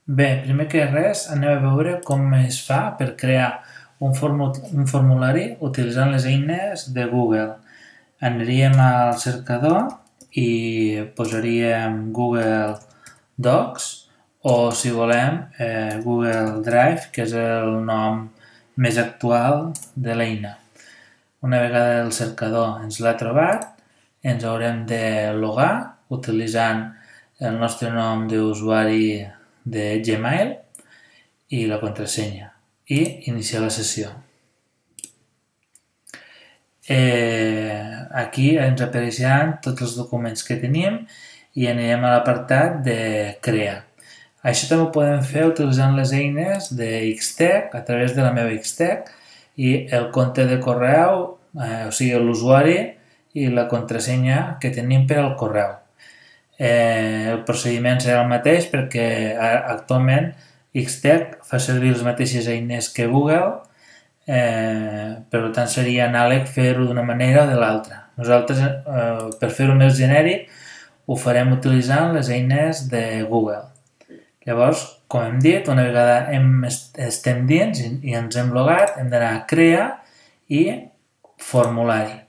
Bé, primer que res anem a veure com es fa per crear un formulari utilitzant les eines de Google. Aniríem al cercador i posaríem Google Docs o, si volem, Google Drive, que és el nom més actual de l'eina. Una vegada el cercador ens l'ha trobat, ens haurem de logar utilitzant el nostre nom d'usuari de Gmail i la contrasenya i iniciar la sessió. Aquí ens apareixeran tots els documents que tenim i anirem a l'apartat de crear. Això també ho podem fer utilitzant les eines de Xtec a través de la meva Xtec i el compte de correu, o sigui l'usuari i la contrasenya que tenim per al correu. El procediment serà el mateix perquè actualment Xtec fa servir les mateixes eines que Google, per tant seria anàleg fer-ho d'una manera o de l'altra. Nosaltres, per fer-ho més genèric, ho farem utilitzant les eines de Google. Llavors, com hem dit, una vegada estem dins i ens hem logat, hem d'anar a crear i formulari.